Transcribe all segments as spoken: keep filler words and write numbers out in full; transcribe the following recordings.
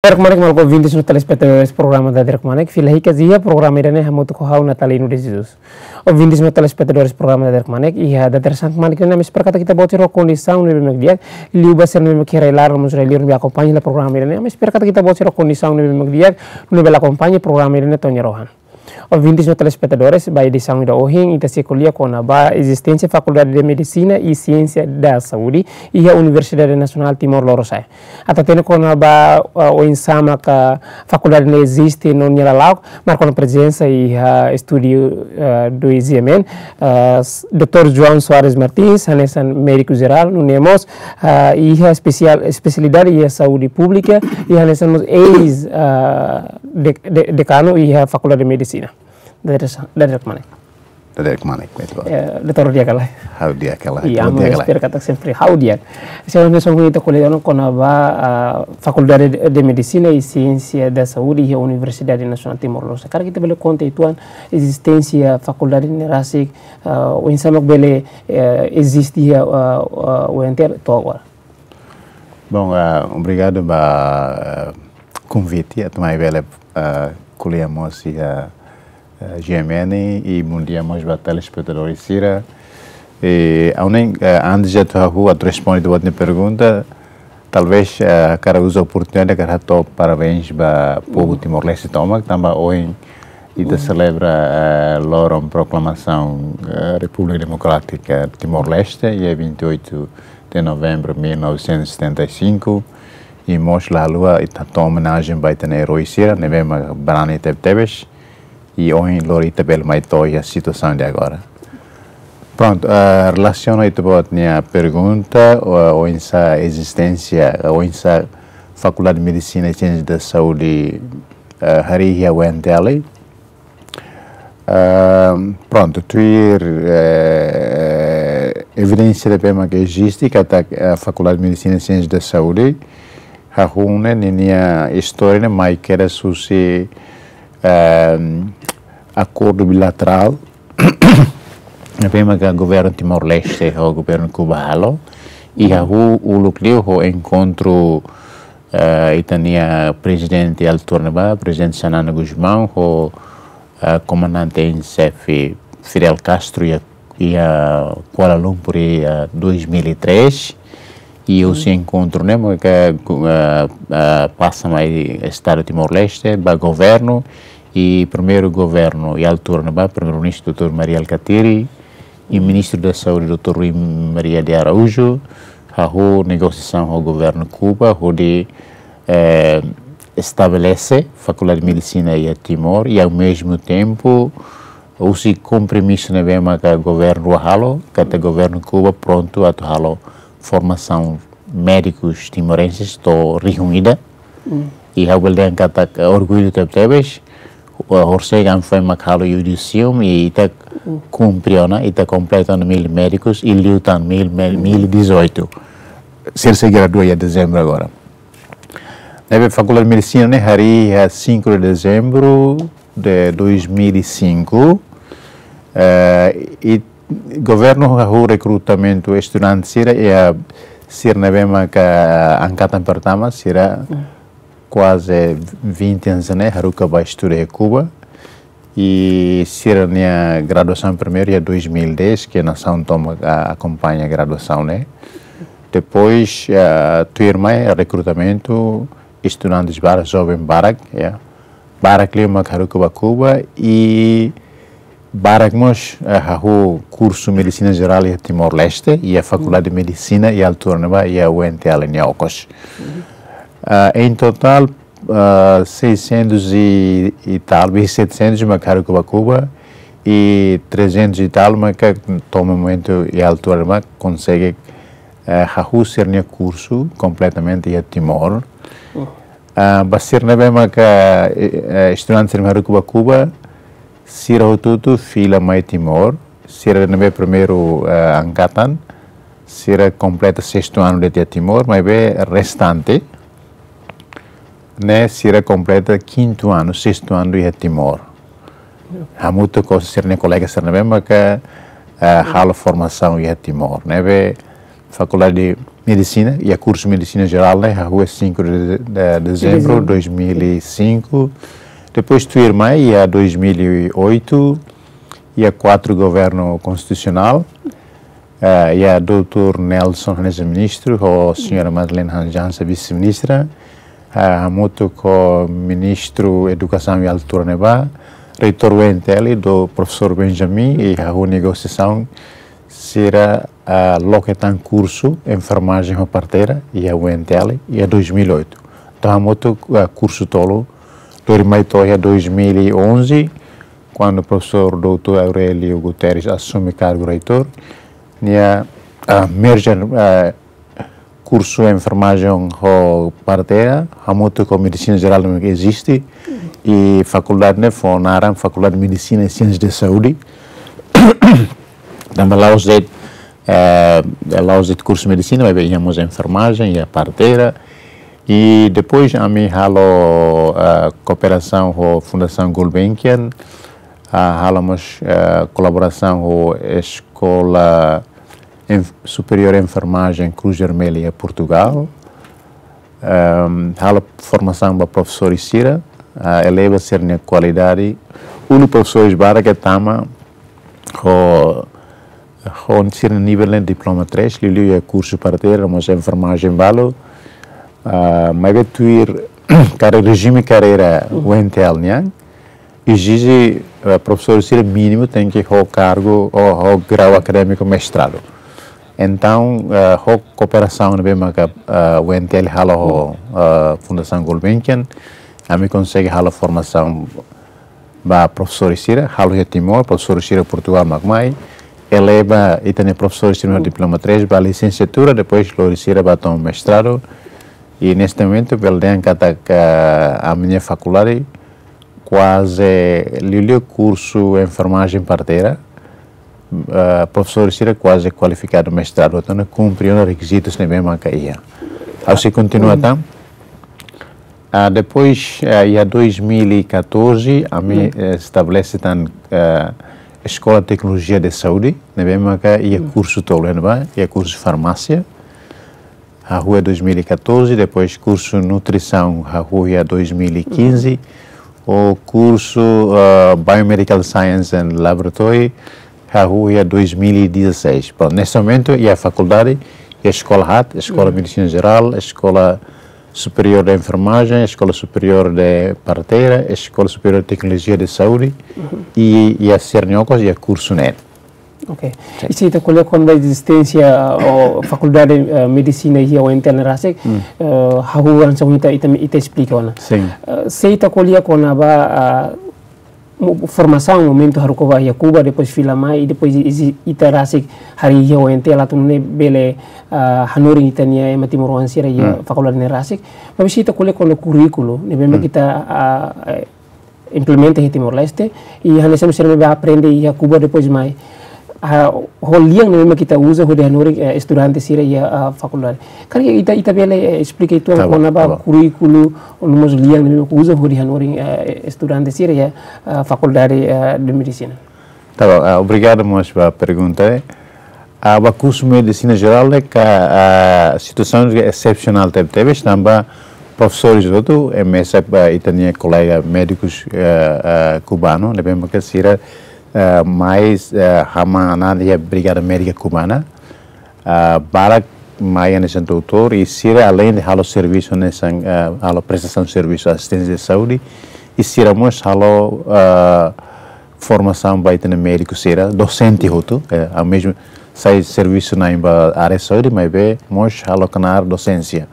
Dadeer kmanek maluk ouvintes no telespetadores programa Dadeer kmanek, fila hikas iha programa ida-ne'e hamutuk ho ha'u Natalino de Jesus. Ouvintes no telespetadores programa Dadeer kmanek, iha dadeer-saan kmanek ne'e ami espera katak ita-boot sira ho kondisaun ne'ebé mak di'ak, liu ba sira ne'ebé mak iha rai-laran no mós rai-liur ne'ebé akompaña hela programa ida-ne'e, ami espera katak ita-boot sira ho kondisaun ne'ebé mak di'ak, no bele akompaña programa ida-ne'e to'o nia rohan. Ouvintes no telespetadores, ba edisaun ida ohin, ita sei ko'alia kona-ba ezisténsia Fakuldade de Medisina e Siénsia da Saúde iha Universidade Nasionál Timor Lorosa'e. Atu hatene kona-ba, eh, oinsá maka fakuldade ne'e eziste no nia lala'ok, marka ona prezensa iha estúdiu, eh, dois M N, eh, s-, doutór João Soares Martins, hanesan médiku jerál, nune'e mós, eh, iha espesiál, espesialidade iha saúde públika, i hanesan mós eis, eh, de-, de-, dekanu iha Fakuldade de Medisina. Dadeer-saan, dadeer kmanek. Dadeer kmanek, betul. Eh, doutór di'ak ka lae? Ha'u di'ak ka lae? Iya, ha'u di'ak ka lae? Espera katak sempre ha'u di'ak. Sebenarnya sungguh ita ko'alia ona kona-ba, ah, Fakuldade de, de Medisina e Siénsia da Saúde iha Universidade Nasionál Timor Leste. Karik ita bele konta uitoan ezisténsia fakuldade ne'e rasik, ah, oinsá mak bele, eh, eziste iha, ah, ah, U N T L to'o agora? Bom, ah, obrigadu ba, ah, konvite, atu mai bele, ah, ko'alia mós iha, ah, G M N, i bom dia mós ba telespetadór sira. I, ha'u hanoin, ah, antes de atu ha'u atu responde ita-boot nia pergunta, talvés, ah, hakarak uza oportunidade hakarak hato'o parabéns ba povu Timor-Leste tomak, tanba ohin ita selebra, eh, loron proklamasaun, eh, Repúblika Demokrátika Timor-Leste, iha vinte e oito de novembro mil novecentos e setenta e cinco, i mós la haluha ita hato'o omenajen ba ita-nia eroi sira ne'ebé mak brani tebetebes, i ohin loron ita bele mai to'o iha situasaun de agora. Prontu, eh, relasiona ita-boot nia pergunta, o, oinsá ezisténsia, oinsá Fakuldade de Medisina e Siénsia da Saúde, eh, harii iha U N T L. Ah, prontu, tuir, eh, evidénsia ne'ebé mak eziste, katak, eh, Fakuldade de Medisina e Siénsia da Saúde, hahú ne'e, ninia istória ne'e mai kedas husi, eh, akordu bilaterál ne'ebé maka governu Timor-Leste ho governu Kuba halo, i hahú uluk liu ho enkontru, eh, ita-nia prezidente altura ne'ebá, Prezidente Xanana Gusmão, ho, eh, komandante em xefe Fidel Castro iha, iha Kuala Lumpur iha dois mil e três. I husi enkontru ne'e maka, eh, eh, pasa mai Estadu Timor-Leste ba governu, i primeiru governu iha altura ne'ebá, Primeiru-Ministru doutór Mari Alkatiri, i Ministru da Saúde doutór Rui Maria de Araújo, hahú negosiasaun ho governu Kuba, hodi, eh, estabelese Fakuldade de Medisina iha Timor, i ao mesmo tempo, husi kompromisu ne'ebé maka governu halo, katak governu Kuba prontu atu halo formasaun médikus timorenses to'o rihun ida. I ha'u bele dehan katak orgullu tebetebes, eh, horisehik ami foin mak halo iudisiomu, i ita kumpre ona, ita kompleta ona mil médikus, i liután mil, mil, mil e dezoito. Sira sei gradua iha dezembru agora. Ne'ebé Fakuldade de Medisina ne'e harii iha cinco de dezembro de dois mil e cinco, eh, i governu hahú rekrutamentu estudante sira, iha sira ne'ebé maka angkatan pertama, sira kuaze vinte anos ne'e, haruka ba estuda iha Kuba. I sira-nia graduasaun primeiru iha dois mil e dez, ke nasaun tomak, ah, akompaña graduasaun ne'e. Depois, ah, tuirmai rekrutamentu estudantes barak, joven barak, ya. Barak liu mak haruka ba Kuba, i barak mós, eh, hahú kursu Medisina Jerál iha Timor-Leste, iha Fakuldade de Medisina iha altura ne'ebá, iha U N T L nia okos. Ah, em total, ah, seiscentos e, e tal, setecentos mak haruka ba Kuba, i trezentos e tal mak to'o momentu iha altura ne'ebá konsege, eh, hahú sira-nia kursu kompletamente iha Timor. Ah, ba sira ne'ebé maka, eh, eh, estudante sira haruka ba Kuba, sira hotu-hotu fila mai Timor, sira ne'ebé primeiru, eh, angkatan, sira kompleta sestu anu de'it iha Timor, maibé restante ne'e sira kompleta kintu anu, sestu anu iha Timor. Hamutuk ho sira-nia kolega sira ne'ebé maka, eh, halo formasaun iha Timor. Ne'ebé Fakuldade de medisina, iha kursu medisina jerál ne'e, hahú iha cinco de, de dezembro de dois mil e cinco. Depois tuirmai iha dois mil e oito, iha quatro governu konstitusionál, eh, iha doutór Nelson hanesan ministru, ho señora Madeleine Hans Jansen vise-ministra, eh, hamutuk ho ministru edukasaun iha altura ne'ebá, reitór U N T L, do profesór Benjamin, i hahú negosiasaun sira, ah, loke tan kursu enfermajen ho parteira iha U N T L iha dois mil e oito. Entaun hamutuk, ah, kursu tolu, lori mai to'o iha dois mil e onze, kuandu profesór doutór Aurélio Guterres asume kargu reitór, nia, ah, merge, ah, kursu enfermajen ho parteira, hamutuk ho medisina jerál ne'ebé eziste, i fakuldade ne'e fó naran Fakuldade de Medisina e Siénsia de Saúde. Tanba la'ós de'it, eh, la'ós de'it kursu medisina, maibé iha mós enfermajen, iha parteira. I depois ami halo, eh, kooperasaun ho Fundasaun Gulbenkian, ah, halo mós, eh, kolaborasaun ho Eskola Enf-, Superiór Enfermajen Cruz Vermelha iha Portugal. Ehm, halo formasaun ba profesores sira, ah, eleva sira-nia kualidade. Uluk profesores barak ke tama ho, ho sira-nia nivel ne'e diploma três, liuliu iha kursu parteira, mós enfermajen balu. Ah, maibé tuir kare-, rejime karreira U N T L nian, ezije, eh, profesór sira mínimu tenke ho kargu ou ho grau akadémiku mestradu. Entaun, eh, ho kooperasaun ne'ebé maka, eh, U N T L halo ho, eh, Fundasaun Gulbenkian, ami konsege halo formasaun ba profesór sira, halo iha Timor, profesór sira Portugal mak mai, eleva ita-nia profesór sira diploma três ba lisensiatura, depois lori sira ba toma mestradu. I neste momentu, bele dehan katak ami-nia fakuldade kuaze liuliu kursu enfermajen parteira, eh, profesór sira kuaze kualifikadu mestradu, entaun kumpre ona rekizitus ne'ebé maka iha. Ha'u sei kontinua tan. Ah, depois, eh, iha dois mil e catorze, ami, eh, estabelese tan, eh, Eskola Teknolojia de Saúde, ne'ebé maka iha kursu tolu ne'ebá, iha kursu farmásia, hahú iha dois mil e catorze, depois kursu nutrisaun, hahú iha dois mil e quinze, ho kursu, ah, Biomedical Science and Laboratory, hahú iha dois mil e dezasseis. Pronto, neste momentu iha fakuldade, iha eskola haat, Eskola Medisina Jerál, Eskola Superiór de Enfermajen, Eskola Superiór de Parteira, Eskola Superiór de Teknolojia de Saúde, i, iha sira-nia okos iha kursu ne'e. Ok. Sin. I se ita ko'alia kona-ba ezisténsia, ah, Fakuldade, ah, Medisina iha U N T L ne'e rasik, ah, hahú hanesan ita, ita, ita esplika ona. Sin. Ah, se ita ko'alia kona-ba, ah, mo-, formasaun momentu haruka ba iha Kuba, depois fila mai, i depois i-, i-, ita rasik harii iha U N T L atu nune'e bele, ah, hanorin ita-nia ema timoroan sira iha fakuldade ne'e rasik. Maibé se ita ko'alia kona-ba kurríkulu, ne'ebé mak ita, ah, eh, implementa iha Timor-Leste, i hanesan sira ne'ebé aprende iha Kuba depois mai. Ah, ho lian ne'ebé mak ita uza hodi hanorin, eh, estudante sira iha, ah, fakuldade. Karik ita, ita bele, eh, esplika uitoan kona-ba kurríkulu, no mós lian ne'ebé mak uza hodi hanorin, eh, estudante sira iha, ah, Fakuldade, eh, de Medisina. Tá bom, ah, obrigadu mós ba pergunta, eh. Ah, ba kursu Medisina Jerál ne'e ka, ah, situasaun ne'e esepsionál tebetebes, tanba profesores hotu, eh, mesak ba ita-nia kolega médikus, eh, eh, kubanu, ne'ebé maka sira, eh, mai, eh, hamanan iha Brigada Médika Kubana, ah, barak mai hanesan doutór, i sira aleinde halo servisu hanesan, ah, halo prestasaun servisu asisténsia saúde, i sira mós halo, ah, formasaun ba ita-nia médiku sira, dosente hotu, eh, ao mesmo sai servisu na'in ba área saúde, maibé mós halo knaar dosénsia.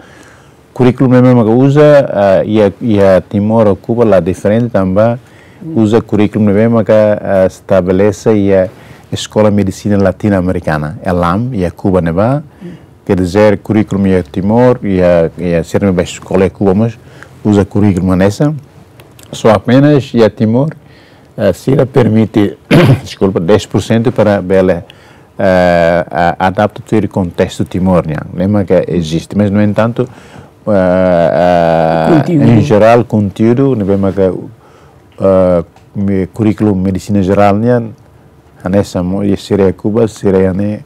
Kurríkulu ne'ebé mak uza, ah, iha, iha Timor ho Kuba la diferente tanba uza kurríkulu ne'ebé maka, ah, estabelese iha Eskola Medisina Latino-Amerikana, ELAM, iha Kuba ne'ebá. Quer dizer, kurríkulu iha Timor, iha, iha sira ne'ebé eskola iha Kuba mós uza kurríkulu hanesan. Só apenas iha Timor, eh, sira permite, deskulpa, dez por cento para bele, eh, a-, adapta tuir kontestu Timor nian. Ne'e mak eziste, mas, no entanto, eh, eh, konteúdu. Em geral, konteúdu ne'ebé maka, eh, me-, kurríkulu Medisina Jerál nian hanesan mós, i sira iha Kuba, sira iha ne'e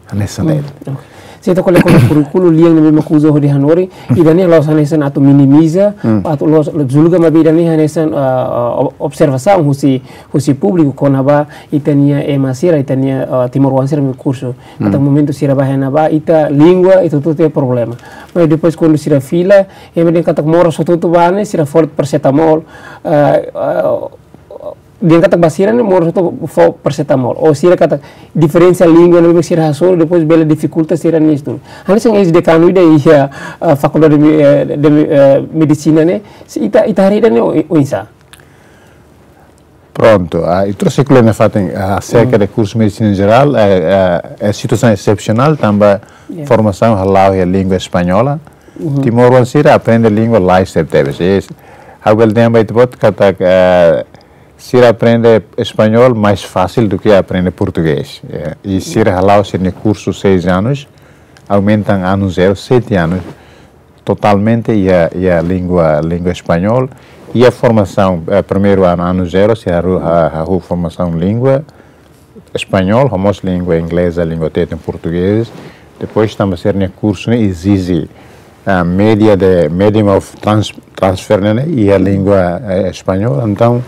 hanesan de'it. Hmm, ok. Ita ko'alia kona-ba kurríkulu lian ne'ebé mak uza hodi hanorin, ida-ne'e la'ós hanesan atu minimiza, atu la'ós julga, maibé ida-ne'e hanesan, ah, ah, ob-, observasaun husi, husi públiku kona-ba ita-nia ema sira, ita-nia, ah, timoroan sira mak kursu. Katak momentu sira ba iha ne'ebá, ita língua, ita hotu-hotu iha problema. Mas depois kuandu sira fila, ema dehan katak moras hotu-hotu ba ne'e, sira fó parasetamol, ah, ah, dehan katak ba sira ne'e moras hotu fó parasetamol. Ou sira katak diferensa língua ne'ebé sira hasoru, depois bele difikulta sira-nia estudu. Hanesan eis-dekanu ida iha, ah, Fakuldade de Me-, eh, de Me-, eh, Medisina ne'e, se ita, ita haree ida-ne'e o-, oinsá? Prontu, ah, ita sei ko'alia nafatin, ah, aserka de kursu Medisina Jerál, eh, eh, é situasaun esepsionál, tanba formasaun hala'o iha língua espanhola. Timoroan sira aprende língua lais tebetebes. Ha'u bele dehan ba ita-boot katak, eh, sira aprende espanhol mais fácil do que aprende português. Eh, e sira hala'o sira-nia kursu seis anos, aumenta ano zero, sete anos, totalmente iha, iha língua, língua espanhol. Iha formasaun, eh, primeiro ano, ano zero, sira hahú, ha-, hahú formasaun língua espanhol, ho mós língua ingleza, língua teten, português. Depois tanba sira-nia kursu ne'e ezije, ah, média de, medium of trans-, transfer ne'e, iha língua, eh, espanhol. Entaun,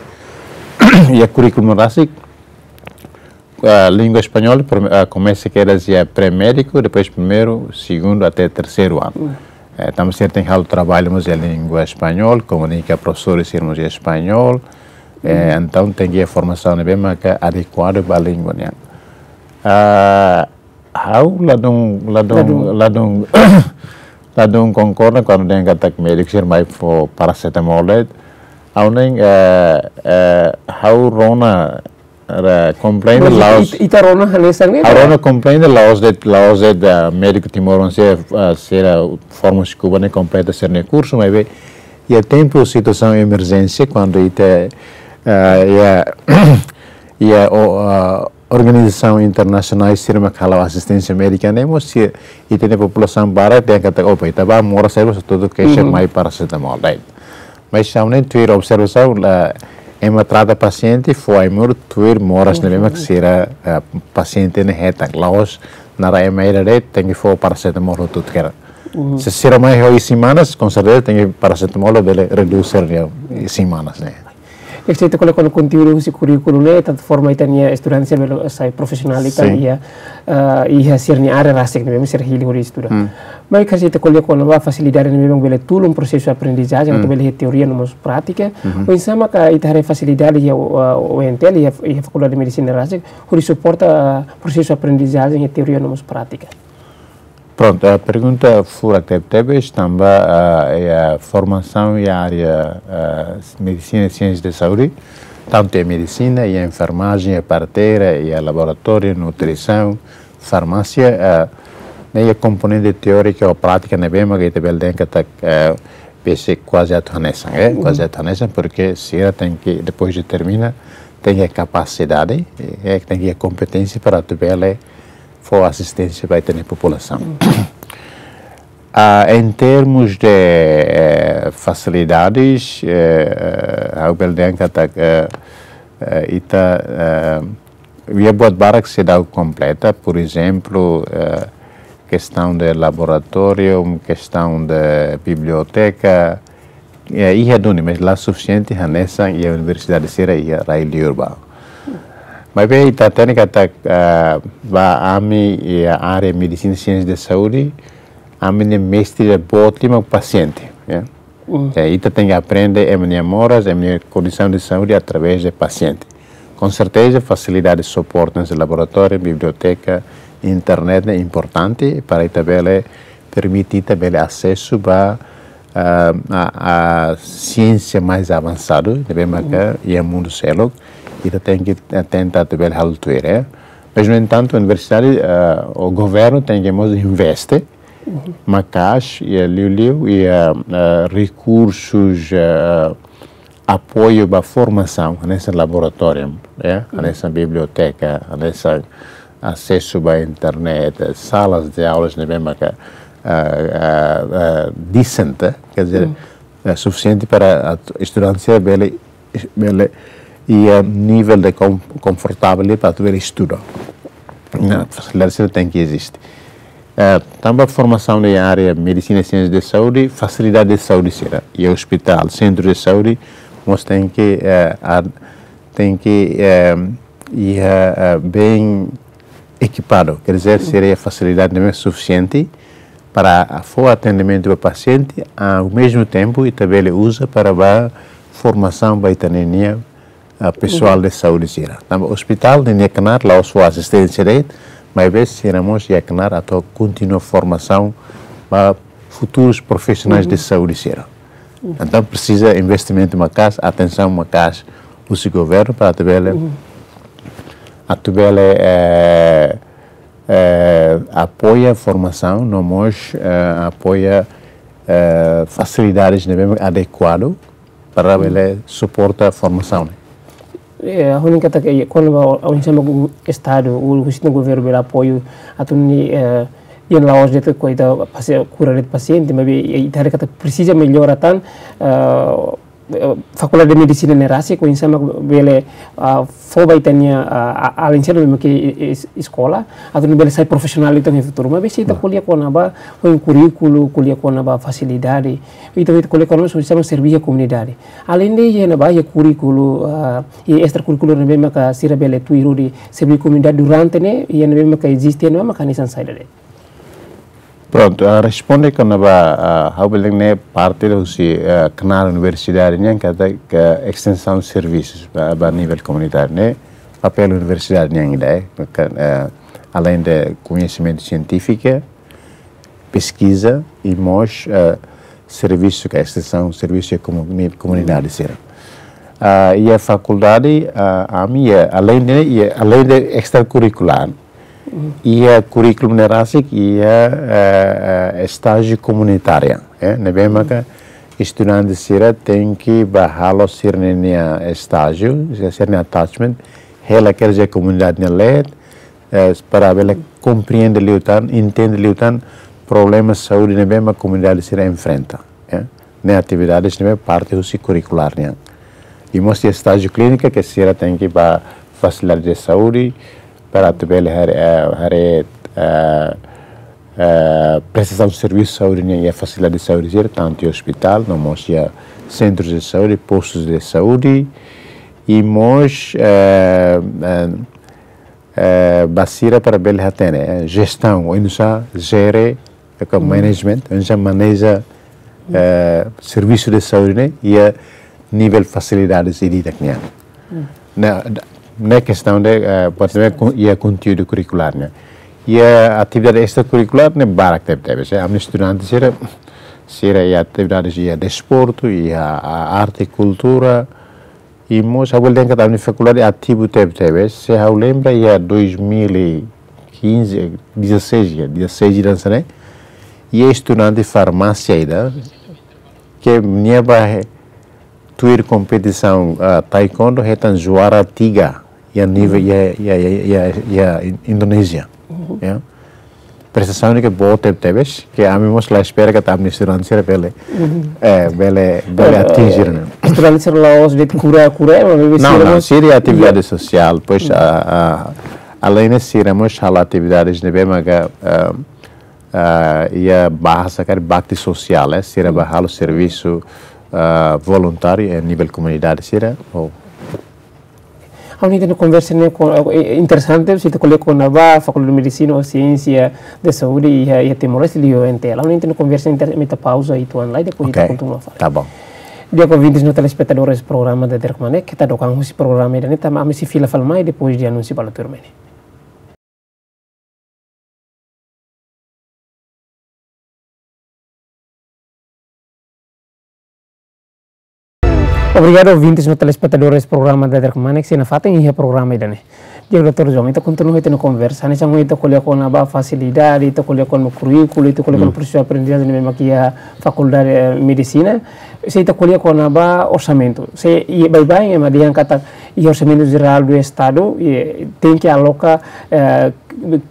iha kurríkulu ne'e rasik, ah, língua espanhol, prime-, ah, komesa kedas iha pré-médiku, depois primeiru, segundu até terseiru ano. Eh, tanba sira tenke halo traballu mós iha língua espanhol, komunika profesór sira mós iha espanhol. Eh, entaun tenke iha formasaun ne'ebé maka adekuadu ba língua nian. Ah, ha'u ladún, ladún, ladún, ladún konkorda kuandu dehan katak médiku sira mai fó parasetamol de'it. Ha'u ne'e, eh, eh, ha'u rona, eh, komprende la'ós. Ita, ita rona hanesan ne'e, ha'u rona komprende la'ós de'it, la'ós de'it, eh, médiku timoroan sira, eh, sira forma husi Kuba ne'e kompleta sira-nia kursu, maibé iha tempu situasaun emerjénsia, kuandu ita, eh, iha, iha o, eh, organizasaun internasionál sira mak hala'o asisténsia médika ne'e mós, ita-nia populasaun barak dehan katak, opa, ita ba moras, sai ba tudo keixa mai parasetamol, right? Mas ha'u-nia tuir observasaun, la, ema trata pasiente, fó ai-moruk, tuir moras ne'ebé mak sira, eh, pasiente ne'e hetan. La'ós naran ema ida de'it tenke fó parasetamol hotu-hotu kedas. Se sira mai ho isin-manas, konserteza tenke parasetamol bele redús sira-nia isin-manas ne'e. Ita sei ko'alia kona-ba konteúdu husi kurríkulu ne'e, tantu forma ita-nia estudante sira bele sai profisionál ita iha, eh, iha sira-nia área rasik ne'ebé sira hili hodi estuda. Maibé ita sei ko'alia kona-ba fasilidade ne'ebé bele tulun prosesu aprendizajen, atu bele iha teoria no mós prátika. Oinsá maka ita haree fasilidade iha, eh, U N T L, iha, iha Fakuldade de Medisina rasik, hodi suporta, eh, prosesu aprendizajen iha teoria no mós prátika? Prontu, eh, pergunta furak tebetebes, tanba, eh, iha formasaun iha área, eh, medisina e siénsia de saúde, tantu iha medisina, iha enfermajen, iha parteira, iha laboratóriu, nutrisaun, farmásia, eh, ne'e iha komponente teórika ou prátika ne'ebé maka ita bele dehan katak, eh, bele kuaze atu hanesan, eh, kuaze atu hanesan, porque sira tenke, depois de termina, tenke kapasidade, eh, tenke kompeténsia para atu bele fó asisténsia ba ita-nia populasaun. Ah, em termos de, eh, fasilidades, eh, eh, ha'u bele dehan katak, eh, eh, ita, eh, iha buat barak seidauk kompleta, por exemplo, eh, questão de laboratóriu, questão de biblioteka, eh, iha duni, mas la sufisiente hanesan iha universidade sira iha rai-li'ur ba. Maibé ita hatene katak, ah, ba ami iha área medisina e siénsia de saúde, ami-nia mestre boot liu mak pasiente, ya. Eh, ita tenke aprende ema-nia moras, ema-nia kondisaun de saúde através de pasiente. Com certeza, fasilidade suporte hanesan laboratóriu, biblioteka, internet ne'e importante para ita bele, permite ita bele asesu ba, ah, a, a siénsia mais avansadu, ne'ebé maka iha mundu seluk, ita tenke, eh, tenta atu bele halo tuir, eh. Mas, no entantu, universidade, ah, ou governu tenke mós investe maka'as iha liuliu iha, eh, rekursus, eh, apoiu ba formasaun, hanesan laboratóriu, eh, hanesan biblioteka, hanesan asesu ba internet, eh, salas de aulas ne'ebé maka, eh, eh, eh, decent, eh, quer dizer, eh, sufisiente para atu estudante sira bele, bele iha nivel de kon-, konfortavel para atu bele estuda. Ne'e, fasilidade sira tenke eziste. Eh, tanba formasaun iha área medisina, siénsia de saúde, fasilidade de saúde sira, iha ospitál, sentru de saúde, mós tenke, eh, a-, tenke, eh, iha, eh, bem ekipadu, quer dizer, sira iha fasilidade ne'ebé sufisiente para fó atendimentu ba pasiente, ao mesmo tempo, ita bele uza para ba formasaun ba ita-nia, ah, pesoál de saúde sira. Tanba ospitál ne'e nia knaar, la'ós fó asisténsia de'it, maibé sira mós iha knaar atu kontinua formasaun ba futurus profisionais de saúde sira. Entaun presiza investimentu maka'as, atensaun maka'as husi governu para atu bele, atu bele, eh, eh, apoia formasaun, no mós, eh, apoia, eh, fasilidades ne'ebé adekuadu para bele suporta formasaun ne'e. Eh, ha'u hanoin katak, eh, kona-ba, ha'u hanoin hanesan mak Estadu, o, husi governu bele apoiu atu nune'e, eh, iha la'ós de'it kona-ba pasi-, kura de'it pasiente, maibé, eh, ita haree katak presiza mellora tan, eh, eh, Fakuldade de Medisina ne'e rasik, oinsá mak bele, ah, fó ba ita-nia, ah, a-, alin sira ne'ebé ke es-, eskola, atu nune'e bele sai profisionál ita iha futuru. Maibé se ita ko'alia kona-ba, ho kurríkulu, ko'alia kona-ba fasilidade, ita, ita ko'alia kona-ba oinsá mak serve iha komunidade. Alende iha ne'ebá, iha kurríkulu, ah, iha estrakurrikulár ne'ebé maka sira bele tuir hodi serve komunidade durante ne'e, iha ne'ebé maka eziste ne'e maka hanesan saida de'it. Prontu, ah, responde kona-ba, ah, ha'u bele dehan ne'e parte husi, ah, knaar universidade nian katak estensaun servisus ba, ba nivel komunitáriu ne'e, papél universidade nian ida, eh, ka, eh, alende koñesimentu sientífiku, peskiza i mós, eh, servisu ka estensaun servisu iha komuni-, komunidade sira. Ah, iha fakuldade, ah, ami iha alende, iha alende estrakurrikulár, iha kurríkulu ne'e rasik iha, eh, eh, estájiu komunitáriu, eh, ne'ebé maka estudante sira tenke ba halo sira-nia estájiu, sira-nia attachment, hela kerja komunidade nia leet, eh, para bele komprende liután, entende liután problema saúde ne'ebé mak komunidade sira enfrenta, eh. Ne'e atividades ne'ebé parte husi kurrikulár nian. I mós iha estájiu klínika ke sira tenke ba fasilidade de saúde, para atu bele haree, eh, haree, eh, eh, prestasaun servisu saúde nian iha fasilidade de saúde sira, tantu iha ospitál, no mós iha sentrus de saúde, postus de saúde, i mós, eh, eh, eh, ba sira para bele hatene, eh, jestaun, oinsá jere, eh, ka management, oinsá maneja, eh, servisu de saúde ne'e, iha nivel fasilidades ida-idak nian. Ne'e, ne'e kestaun de, eh, parte ne'e kon-, iha konteúdu kurrikulár nian. Iha atividade estrakurrikulár ne'e barak tebetebes, eh, ami-nia estudante sira, sira iha atividades iha desportu, iha a-, arte, kultura, i mós ha'u bele dehan katak ami-nia fakuldade ativu tebetebes, se ha'u lembra iha dois mil e quinze, dezasseis, iha dezasseis ida hanesan ne'e, iha estudante farmásia ida, ke nia ba he-, tuir kompetisaun, ah, taekwondo hetan juara tiga iha nivel, iha, iha, iha, iha, iha In-, Indonézia. Ya. Prestasaun ne'e ke boot tebetebes, ke ami mós la espera katak ami-nia estudante sira bele, eh, bele, bele atinje ne'e. Estudante sira la'ós de'it kura, kura, eh, maibé sira mós, sira iha atividade sosiál, pois, ah, ah, alende sira mós halo atividades ne'ebé maka, ah, ah, iha bahasa karik bakti sosiál, eh, sira ba halo servisu, ah, voluntáriu iha nivel komunidade sira, ou Ha'u hanoin ita-nia konversa ne'e ko-, eh, interesante, se ita ko'alia kona-ba Fakuldade de Medisina ou Siénsia de Saúde iha, iha Timor-Leste liuliu U N T L. Ha'u hanoin ita-nia konversa inter-, ami ita pauza uitoan lai, depois ita kontinua fali. Tá bom. Di'ak, ouvintes no telespetadores programa Dadeer Kmanek, keta dook an husi programa ida-ne'e, tanba ami sei fila fali mai depois de anúnsiu balu tuirmai ne'e. Obrigadu, ouvintes no telespetadores programa Dadeer Kmanek, sei nafatin iha programa ida-ne'e. Di'ak, doutór João, ita kontinua ita-nia konversa, hanesan ita ko'alia kona-ba fasilidade, ita ko'alia kona-ba kurríkulu, ita ko'alia kona-ba prosesu aprendizajen ne'ebé mak iha Fakuldade, eh, Medisina, se ita ko'alia kona-ba orsamentu. Se iha baibain ema dehan katak iha Orsamentu Jerál do Estadu, eh, tenke aloka, eh,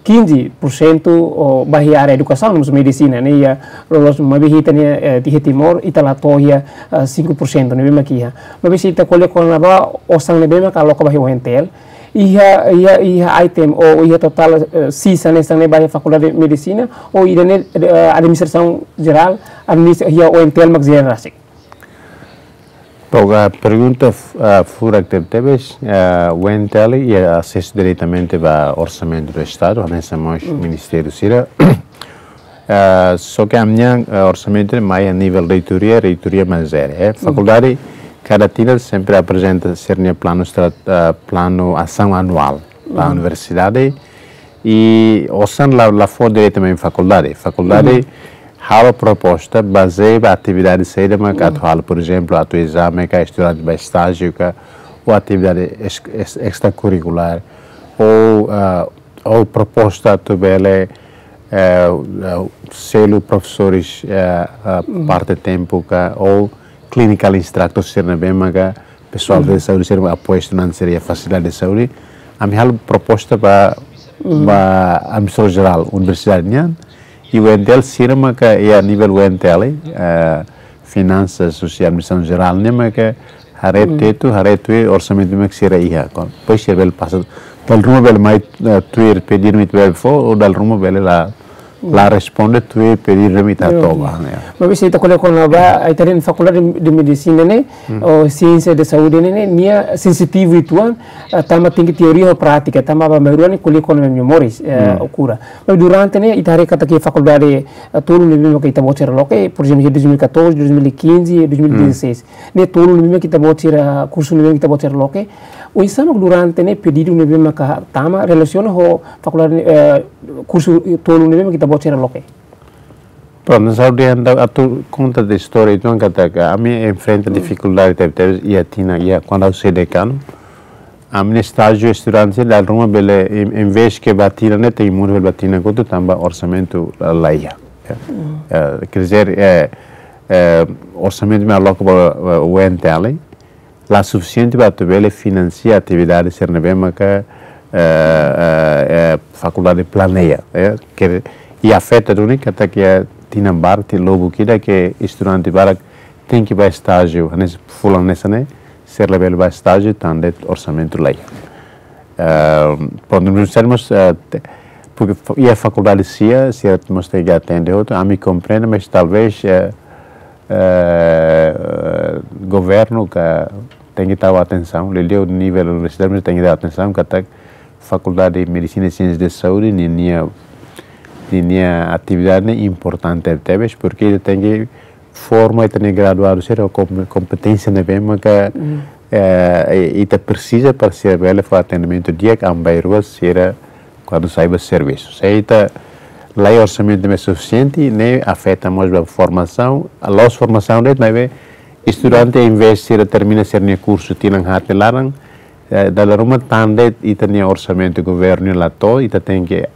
quinze por cento ba iha área edukasaun, no mós medisina, ne'e iha loloos maibé ita-nia, eh, iha Timor, ita la to'o iha, eh, cinco por cento ne'ebé mak iha. Maibé se ita ko'alia kona-ba osan ne'ebé mak aloka ba iha U N T L, Iha, iha, iha item ou iha totál, eh, sisa ne'e, sisa ne'e ba iha Fakuldade Medisina, ou ida-ne'e, eh, Administrasaun Jerál, administra, iha U N T L mak jere rasik? Bom, a pergunta f-, ah, furak tebetebes, ah, U N T L iha asesu diretamente ba Orsamentu do Estadu, hanesan mós ministériu sira. Ah, só ke ami-nia, ah, orsamentu ne'e mai iha nivel reitoria, reitoria mak jere, eh. Fakuldade, kada tinan sempre aprezenta sira-nia planu estra-, ah, planu asaun anuál ba universidade. I osan la, la fó diretamente fakuldade. Fakuldade halo proposta bazeia ba atividade saida mak atu halo, por ezemplu, atu ezame ka, estudante ba estájiu ka, ou atividade es-, es-, estrakurrikulár, ou, ah, ou proposta atu bele, eh, eh, selu profesores, eh, eh, parte tempu ka, ou clinical instructor sira ne'ebé maka pesoál de saúde sira apoia estudante sira iha fasilidade de saúde. Ami halo proposta ba, ba Administrasaun Jerál universidade nian, i U N T L sira maka iha nivel U N T L, eh, Finansas, husi Administrasaun Jerál ne'e maka haree tetu, haree tuir orsamentu mak sira iha. Kon, depois sira bele pasa, dala ruma bele mai, eh, tuir pedidu ne'ebé ita bele fó, ou dala ruma bele la, la responde tuir pedidu ne'ebé ita hato'o ba, ya. Maibé se ita ko'alia kona-ba, ita dehan Fakuldade de Medisina ne'e, ou Siénsia de Saúde ne'e, ne'e, nia sensitivu uitoan, eh, tanba tenke teoria ho prátika, tanba ba maioria ne'e ko'alia kona-ba moris, eh, ou kura. Maibé durante ne'e, ita haree katak iha fakuldade, eh, tolu ne'ebé maka ita-boot sira loke, por ezemplu, iha dois mil e catorze, dois mil e quinze, dois mil e dezasseis. Ne'e tolu ne'ebé maka ita-boot sira, kursu ne'ebé maka ita-boot sira loke. Oinsá mak durante ne'e pedidu ne'ebé maka tama relasiona ho fakuldade, eh, kursu tolu ne'ebé maka ita-boot sira loke? Prontu, saúde anda atu konta de istória, entaun katak ami enfrenta difikuldade tebetebes iha tinan, iha kuandu ha'u sai dekanu. Ami-nia estájiu estudante dala ruma bele, em, em vez ke ba tinan ne'e, tenke muda bele ba tinan kotuk tanba orsamentu la, la iha. Ya. Eh, quer dizer, eh, eh, orsamentu mak aloka ba, eh, U N T L, la sufisiente ba atu bele finansia atividade sira ne'ebé maka, eh, eh, eh, fakuldade planeia, eh, ke, i afeta duni katak iha tinan barak, tinan lubuk ida ke estudante barak tenke ba estájiu, hanesan fulan hanesan ne'e, sira labele ba estájiu, tanba orsamentu la iha. Eh, prontu, nós temos, eh, te-, porque fa-, iha fakuldade sira, sira mós tenke atende hotu, ami komprende, mas talvez, eh, eh, governu ka tenke tau atensaun, liuliu nivel universitáriu tenke tau atensaun, katak Fakuldade de Medisina e Siénsias de Saúde, ninia, ninia atividade ne'e importante tebes, porque tenke forma ita-nia graduadu sira ho kom-, kompeténsia ne'ebé maka, eh, ita presiza para sira bele fó atendimentu di'ak an bainrua sira kuandu sai ba servisu. Se ita la iha orsamentu ne'ebé sufisiente, ne'e afeta mós ba formasaun, la'ós formasaun de'it, maibé estudante, em vez sira termina sira-nia kursu tinan haat nia laran, eh, dala ruma tanba ita-nia orsamentu governu la to'o, ita tenke,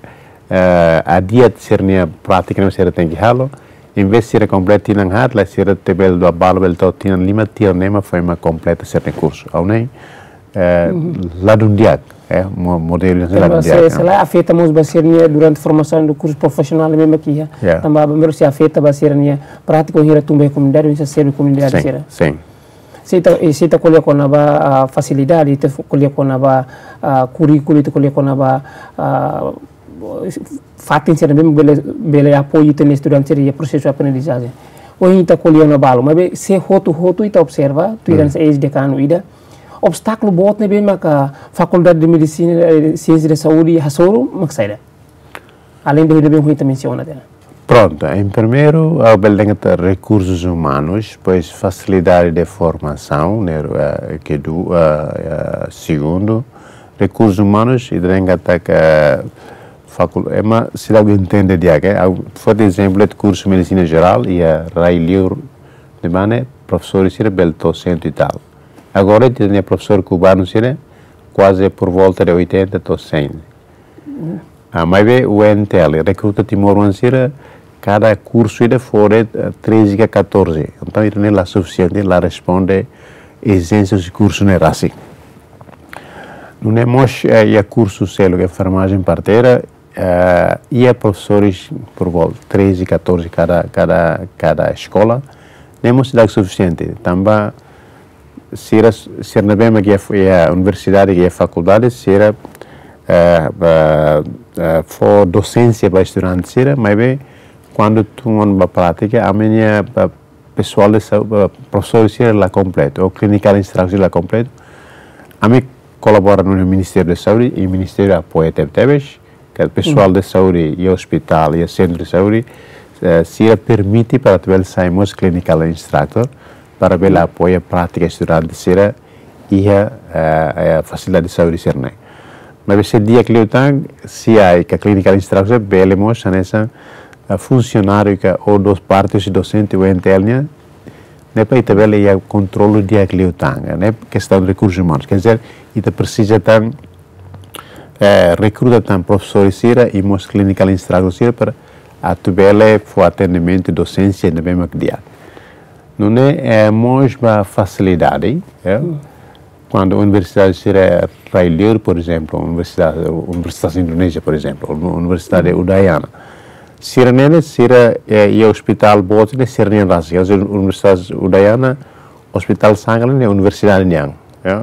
eh, adia sira-nia prátika ne'ebé sira tenke halo. Em vez sira kompleta tinan haat, la sira te bele dua balu bele to'o tinan lima, tinan ema foin mak kompleta sira-nia kursu. Ha'u hanoin, eh, ladún di'ak, eh, mo-, modelu ne'e ladún di'ak, se, eh, se la afeta mós ba sira-nia durante formasaun do kursu profisionál ne'ebé maka iha. Ya. Tanba ba mero se afeta ba sira-nia prátika, hira tun ba komunidade, hira serve komunidade sira. Sin, sin. Se ita, eh, se ita ko'alia kona-ba, ah, fasilidade, ita fo-, ko'alia kona-ba, ah, kurríkulu, ita ko'alia kona-ba, ah, fatin sira ne'ebé bele, bele apoiu ita-nia estudante sira iha prosesu aprendizajen. Ohin ita ko'alia ona balu, maibé se hotu-hotu ita observa, tuir hanesan eis-dekanu ida, obstákulu boot ne'ebé maka Fakuldade de Medisina, eh, Siénsia de Saúde hasoru mak saida? Além de ne'ebé ohin ita mensiona tiha ona. Prontu, em primeiru, ha'u bele dehan katak rekursus umanus, depois fasilidade de formasaun, ne'e, eh, ke du-, eh, eh, segundu, rekursus umanus, ita dehan katak, eh, fakul-, ema seidauk entende di'ak, eh, ha'u foti ezemplu de kursu Medisina Jerál, iha rai-li'ur ne'ebá ne'e, profesór sira bele to'o cento e tal. Agora, ita-nia profesór kubanu sira, kuaze por volta de oitenta to'o cem. Ah, maibé U N T L, rekruta timoroan sira, kada kursu ida fó de'it, eh, treze ka catorze. Entaun, ida-ne'e la sufisiente, la responde ezijénsia husi kursu ne'e rasik. Nune'e mós, eh, iha kursu seluk enfermajen parteira, eh, iha profesores por volta treze, catorze kada, kada, kada eskola. Ne'e mós la sufisiente, tanba sira, sira ne'ebé mak iha, iha universidade, iha fakuldade, sira, eh, ba, eh, fó dosénsia ba estudante sira, maibé kuandu tun ona ba prátika, ami-nia, ba, pesoál de saúde, ba, profesór sira la kompletu, ou clinical instructor la kompletu. Ami kolabora ho Ministériu Saúde, i Ministériu apoia tebetebes, ke pesoál de saúde, iha ospitál, iha sentru de saúde, eh, sira permite para atu bele sai mós clinical instructor, para bele apoia prátika estudante sira iha, eh, eh, fasilidade saúde sira-ne'e. Maibé se di'ak liután, C I ka clinical instructor bele mós hanesan, eh, funsionáriu ka ou dos parte husi dosente U N T L nian, ne'e para ita bele iha kontrolu di'ak liután, ne'e kestaun de rekursus umanus. Quer dizer, ita presiza tan, eh, rekruta tan profesór sira i mós clinical instructor sira para atu bele fó atendimentu dosénsia ne'ebé mak di'ak. Nune'e, eh, mós ba fasilidade, eh? Kuandu universidade sira rai-liur, por ezemplu, universidade, Universitas Indonézia, por ezemplu, ou Universidade Udayana. Sira-ne'e, sira, eh, iha ospitál boot ne'e sira-nian rasik. Universitas Udayana, ospitál sangka ne'e universidade nian, ya.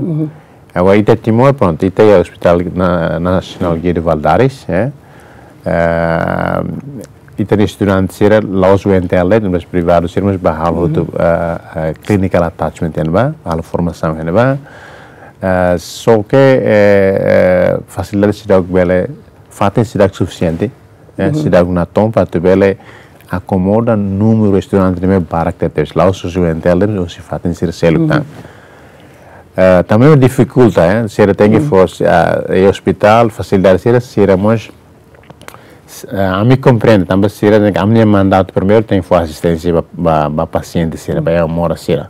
Agora, ita Timor, prontu, ita iha Ospitál Na-, Nasionál Guido Valadares, ya. Eh, ita-nia estudante sira, la'ós U N T L de'it, mas privadu sira, mas bá halo hotu, eh, eh, clinical attachment, ya, bá halo formasaun, ya, bá. Eh, só ke, eh, eh, fasilidade seidauk bele, fatin seidauk sufisiente, eh, seidauk natoon para atu bele akomoda númeru estudante ne'ebé barak tebes, la'ós husi U N T L de'it, husi fatin sira seluk tan. Eh, tanba difikulta, eh, sira tenke fó, ah, iha ospitál, fasilidade sira, sira mós, eh, ami komprende, tanba sira, ami-nia mandatu primeiru tenke fó asisténsia ba, ba, ba pasiente sira, ba iha moras sira.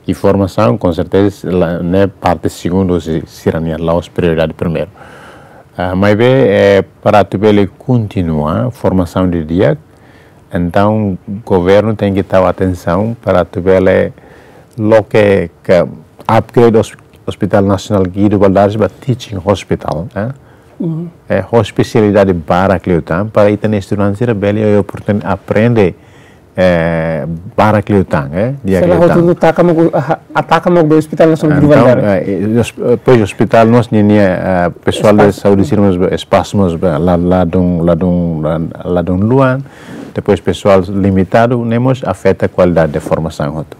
I formasaun, com certeza, la, ne'e parte segundu, si, sira-nian, la'ós prioridade primeiru. Ah, maibé, eh, para atu bele kontinua formasaun didi'ak, entaun governu tenke tau atensaun para atu bele loke ka upgrade os-, Hospital Nasionál Guido Valadares ba teaching hospital, eh? Eh, ho espesialidade barak liután, para ita-nia estudante sira bele iha oportunidade aprende, eh, barak liután, eh, di'ak liután. Sira hotu taka mak, ah, ataka mak ba Hospital Nasionál Guido Valadares. Entaun, eh, eh, os-, eh, pois ospitál mós ninia, eh, pesoál de saúde sira mós ba, espasu mós ba, la, ladún, ladún, la, ladún luan, depois pesoál limitadu, ne'e mós afeta kualidade de formasaun hotu.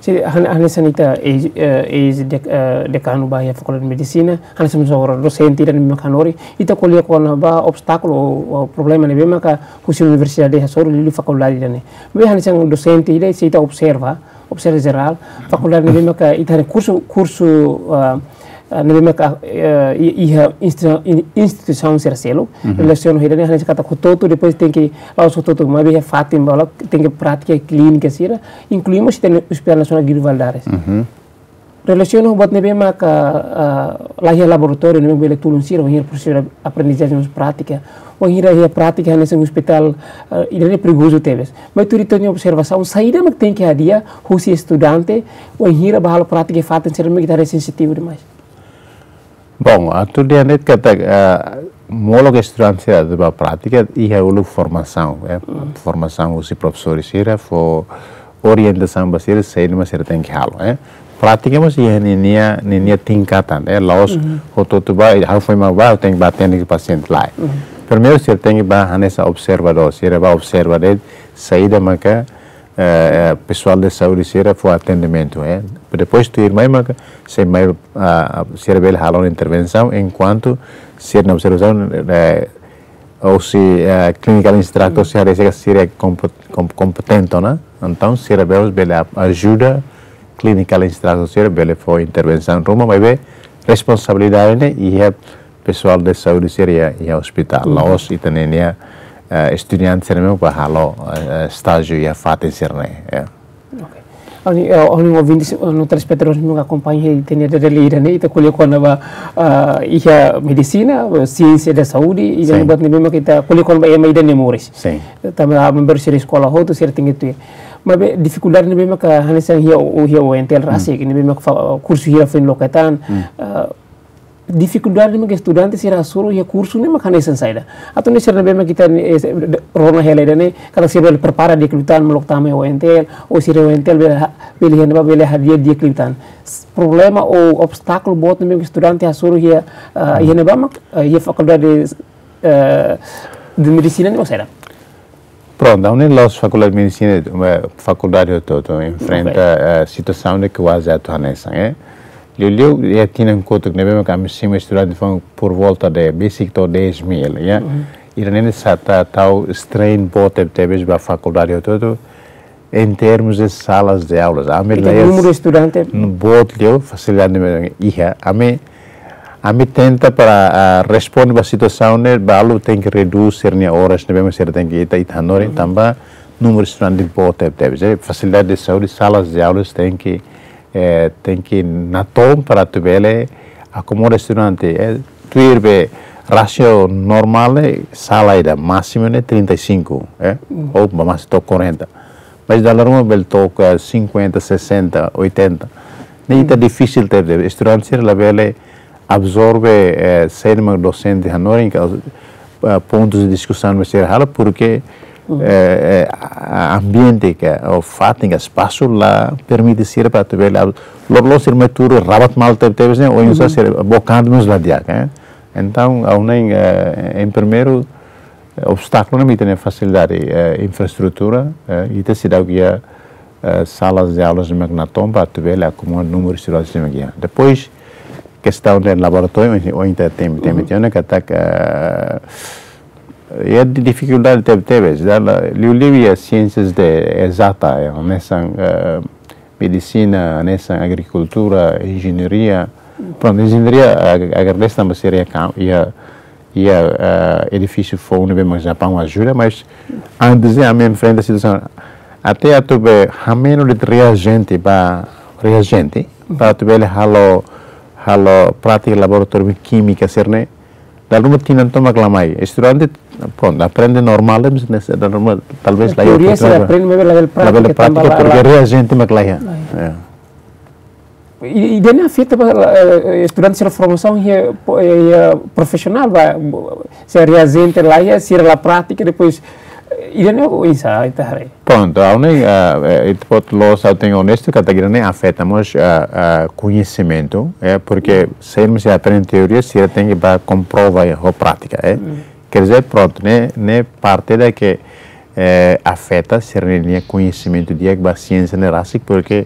Sin, han-, hanesan ita eis, eh, eis dek-, eh, dekanu ba iha Fakuldade Medisina, hanesan mós agora dosente ida ne'ebé mak hanorin, ita ko'alia kona-ba obstákulu ou, ou problema ne'ebé maka husi universidade hasoru liuliu fakuldade ida-ne'e. Maibé hanesan dosente ida, se ita observa, observa jerál, fakuldade ne'ebé maka ita hanesan kursu, kursu, ah, ah, ne'ebé maka, eh, i-, iha insti-, in-, instituisaun sira seluk, relasiona ho ida-ne'e hanesan katak hotu-hotu, depois tenke, la'ós hotu-hotu, maibé iha fatin balu, tenke prátika klínika sira, inklui mós ita-nia Hospital Nasionál Guido Valadares. Relasiona ho buat ne'ebé maka, ah, la iha laboratóriu ne'ebé bele tulun sira, wainhira prosesu aprendizajen mós prátika, wainhira iha prátika hanesan ospitál, ah, ida-ne'e perigozu tebes. Maibé tuir ita-nia observasaun, saida mak tenke hadi'a husi estudante, wainhira bá halo prátika iha fatin sira ne'ebé ita haree sensitivu demais. Bom, atu dehan de'it katak, ah, molok estudante sira atu bá prátika, iha uluk formasaun, eh, formasaun husi profesór sira, fó orientasaun ba sira, saida mak sira tenke halo, eh. Prátika mós iha ninia, ninia tingkatan, eh, la'ós hotu-hotu bá, ha'u foin mak bá, tenke bá atende pasiente, lae. Primeiru sira tenke bá hanesan observadór, sira bá observa de'it saida maka, eh, eh, pesoál de saúde sira fó atendimentu, eh. Depois tuirmai maka, sei mai, ah, sira bele halo intervensaun, enkuantu sira-nia observasaun, eh, husi, eh, clinical instructor sira haree katak sira kompo-, kom-, kompetente ona, entaun sira bele, bele a-, ajuda clinical instructor sira bele fó intervensaun ruma, maibé responsabilidade ne'e iha pesoál de saúde sira iha, iha ospitál. La'ós ita-nia, eh, estudante sira ne'ebé mak bá halo, eh, estájiu iha fatin sira-ne'e, ya. Ok. Ha'u-nia, eh, ha'u-nia ouvinte, eh, no telespetadór sira mak akompaña iha ita-nia dada ida-ne'e, ita ko'alia kona-ba, ah, iha medisina, eh, siénsia da saúde, i ita buat ne'ebé mak ita ko'alia kona-ba ema ida nia moris. Sin. Tanba member sira eskola hotu, sira tenke tuir. Maibé difikuldade ne'ebé maka hanesan iha, iha U N T L rasik, ne'ebé maka fa-, kursu hira foin loke tan, ah, Difikuldade ne'ebé estudante sira hasoru iha kursu ne'e mak hanesan saida? Atu nune'e sira ne'ebé mak ita, eh, se-, de-, rona hela ida-ne'e, katak sira bele prepara di'ak liután molok tama iha O N T L, ou sira O N T L bele ha-, bele iha ne'ebá bele hadi'a di'ak liután. S-, problema ou obstákulu boot ne'ebé estudante hasoru iha, ah, iha ne'ebá mak, ah, iha fakuldade, eh, de medisina ne'e mak saida? Prontu, ha'u hanoin la'ós fakuldade de medisina, eh, fakuldade hotu-hotu enfrenta, eh, situasaun ne'ebé kuaze atu hanesan, eh. Liuliu iha tinan kotuk ne'ebé mak ami simu estudante foun por volta de besik to'o dez mil, ya. Ida-ne'e sa ta tau strain boot tebetebes ba fakuldade hotu-hotu, em termos de salas de aulas. Ami la iha númeru estudante boot liu, fasilidade ne'ebé iha. Ami, ami tenta para, ah, responde ba situasaun ne'e, balu tenke redús sira-nia oras ne'ebé mak sira tenke ita, ita hanorin, tanba númeru estudante boot tebetebes. Eh, fasilidade de saúde, salas de aulas tenke, eh, tenke natoon para atu bele akomoda estudante. Eh, tuir be rasio normál, eh, sala ida másimu ne'e trinta e cinco, eh, ou ba másimu to'o quarenta. Mas dala ruma bele toka cinquenta, sessenta, oitenta. Ne'e ita difisil tebes, estudante sira labele absorve, eh, saida mak dosente hanorin ka, eh, pontus de diskusaun ne'ebé sira halo, porque, eh, eh, a-, ambiente ka, ou fatin ka, espasu la permite sira para atu bele ab-, loroloron sira mai tuur rabat malu tebetebes ne'e, oinsá sira bokan mós la di'ak, eh. Entaun, ha'u hanoin, eh, em primeiru, eh, obstákulu ne'e mak ita-nia fasilidade, eh, infraestrutura, eh, ita seidauk iha, eh, salas de aulas ne'ebé mak natoon para atu bele akomoda númeru estudante ne'ebé mak iha. Depois, kestaun de laboratóriu, ohin, ohin ita temi, temi tiha ona katak, eh, iha di-, difikuldade tebetebes, dala, liuliu iha siénsias de ezata, eh, hanesan, eh, medisina, hanesan agrikultura, enjeñaria. Prontu, enjeñaria, ag-, agradese tanba sira iha kam-, iha, iha, eh, edifísiu foun ne'ebé mak Japaun ajuda, mas antes ne'e ami enfrenta situasaun até atu be hameno de reajendi ba, reajendi, para atu bele halo, halo prátika laboratóriu kímika sira-ne'e, dala ruma tinan tomak la mai. Estudante, prontu, aprende normál, mas ne'e dala ruma, talvez la iha teoria sira prátika, aprende, mas labele prátika, labele tanba prátika, la, porque la reajendi mak la iha. La iha. Eh. I, i ida-ne'e afeta ba, eh, estudante sira formasaun iha, po-, eh, iha profisionál ba, bo-, se reajendi la iha, sira la prátika, depois, eh, ida-ne'e oinsá ita haree? Prontu, ha'u hanoin, eh, eh, ita-boot la'ós ha'u tenke onestu, katak ida-ne'e afeta mós, eh, eh, koñesimentu, eh, porque saida mak sira aprende teoria, sira tenke ba komprova ho prátika, eh. Quer dizer, prontu, ne'e, ne'e parte ida ke, eh, afeta sira-nia koñesimentu di'ak ba siénsia ne'e rasik, porque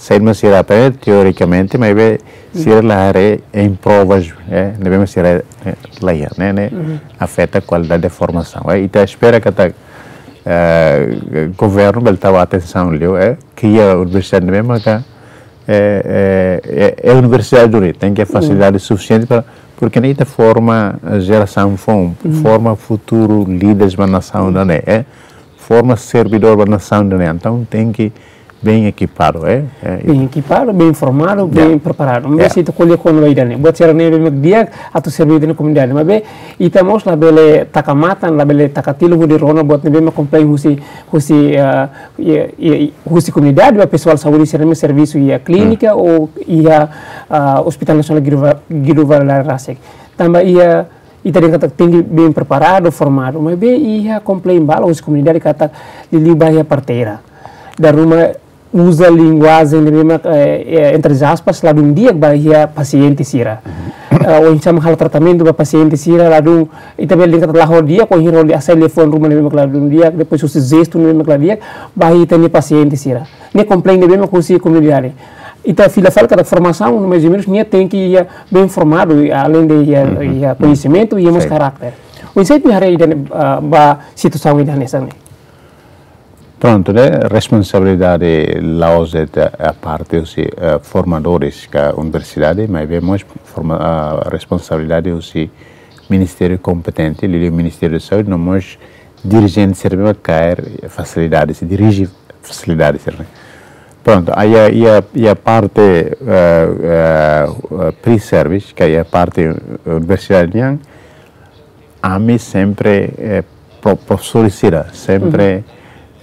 saida mak sira aprende teorikamente, maibé sira la haree em provas, eh, ne'ebé mak sira, eh, la iha, ne'e, ne'e afeta kualidade de formasaun. Eh, ita espera katak, eh, governu bele tau atensaun liu, eh, kria universidade ne'ebé maka, eh, eh, eh, eh, universidade duni, tenke fasilidade sufisiente para, porque ne'e ita forma, eh, jerasaun foun, forma futuru líderes ba nasaun ida-ne'e, eh, forma servidór ba nasaun ida-ne'e. Entaun tenke bem ekipadu, eh, eh, bem ekipadu, bem formadu, bem preparadu. Maibé se ita ko'alia kona-ba ida-ne'e, buat sira ne'ebé mak di'ak atu serve ita-nia komunidade. Maibé ita mós labele taka matan, labele taka tilun hodi rona buat ne'ebé mak komplain husi, husi, eh, iha, iha, iha, husi komunidade, ba pesoál saúde sira ne'ebé servisu iha klínika ou iha, ah, Hospital Nasionál Guido Va-, Guido Valadares rasik. Tanba iha, ita dehan katak tenke bem preparadu, formadu, maibé iha komplain balu husi komunidade katak liuliu ba iha parteira. Dala ruma uza linguajen ne'ebé mak, eh, eh, entre aspas, ladún di'ak ba iha pasiente sira. Eh, oinsá mak halo tratamentu ba pasiente sira, ladún, ita bele dehan katak la ho di'ak, ohin roli asai liafuan ruma ne'ebé mak ladún di'ak, depois husi jestu ne'ebé mak la di'ak ba iha ita-nia pasiente sira. Ne'e komplain ne'ebé mak husi komunidade. Ita fila fali katak formasaun, mais ou menus, nia tenke iha bem formadu, além de iha, iha koñesimentu, iha mós karakter. Oinsá ita haree ida-ne'e, ah, ba situasaun ida hanesan ne'e? Prontu, ne'e responsabilidade la'ós de'it, eh, aparte husi, eh, formadores ka universidade, maibé mós forma-, ah, responsabilidade husi ministériu kompetente, liuliu Ministériu Saúde, no mós dirijente sira ne'ebé kaer fasilidade, sei dirije fasilidade sira-ne'e. Prontu, iha, iha, iha parte, eh, eh, eh, pre-service, ka iha parte universidade nian, ami sempre, eh, pro-, profesór sira, sempre,